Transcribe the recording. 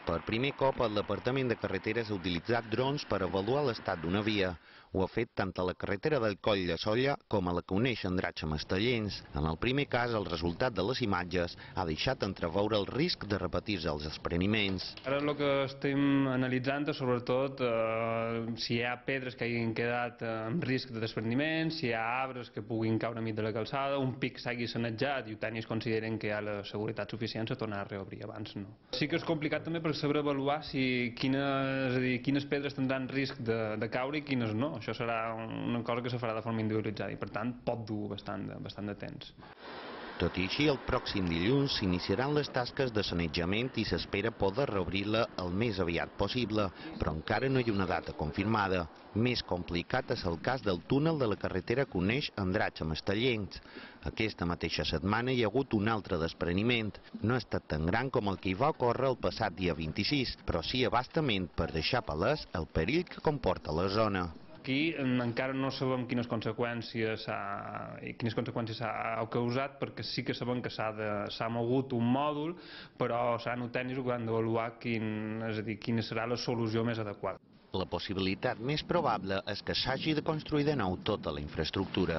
Per primer cop, el Departament de Carreteres ha utilitzat drons per avaluar l'estat d'una via. Ho ha fet tant a la carretera del Coll de Solla com a la que uneix Andratx amb Estellencs. En el primer cas, el resultat de les imatges ha deixat entreveure el risc de repetir-se els despreniments. Ara el que estem analitzant és sobretot si hi ha pedres que hagin quedat en risc de despreniment, si hi ha arbres que puguin caure enmig de la calçada, un pic s'hagi sanejat i els tècnics consideren que hi ha la seguretat suficient a tornar a reobrir, abans no. Sí que és complicat també per saber avaluar quines pedres tindran risc de caure i quines no. Això serà una cosa que se farà de forma individualitzada i per tant pot dur bastant de temps. Tot i així, el pròxim dilluns s'iniciaran les tasques de sanejament i s'espera poder reobrir-la el més aviat possible, però encara no hi ha una data confirmada. Més complicat és el cas del túnel de la carretera que uneix Andratx amb Estellencs. Aquesta mateixa setmana hi ha hagut un altre despreniment. No ha estat tan gran com el que hi va ocórrer el passat dia 26, però sí a bastament per deixar palès el perill que comporta la zona. Aquí encara no sabem quines conseqüències ha causat, perquè sí que sabem que s'ha mogut un mòdul, però seran els tècnics que han d'avaluar quina serà la solució més adequada. La possibilitat més probable és que s'hagi de construir de nou tota la infraestructura.